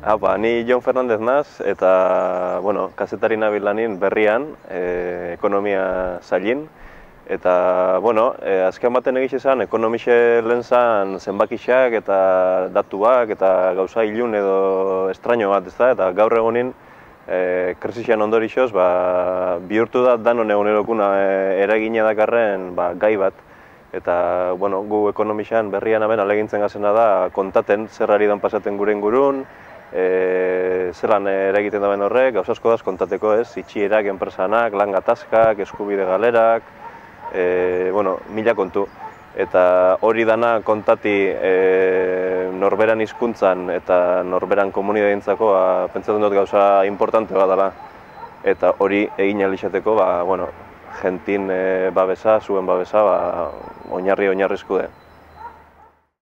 Ni Jon Fernandez naz, eta, kazetari nabil lanin berrian, ekonomia zailin. Eta, azken baten egiz izan, ekonomixe lehen zan zenbakixak eta datuak eta gauza ilun edo estraño bat, ezta? Eta gaur egunin, krisian ondorixoz, bihurtu da danon egunerokuna eragina dakarren gai bat. Eta, gu ekonomixan berrian aben alegintzen gazena da kontaten zer ari dan pasaten gure ingurun, zelan eragiten daben horrek, gauza asko daz kontateko ez, itxierak, enpresanak, lan gatazkak, eskubide galerak, mila kontu. Eta hori dana kontati norberan hizkuntzan eta norberan komunidadeentzako pentsatzen dut gauza importante bat dela. Eta hori egin ahal izateko, jentin babesa, zuen babesa, oinarrizko de.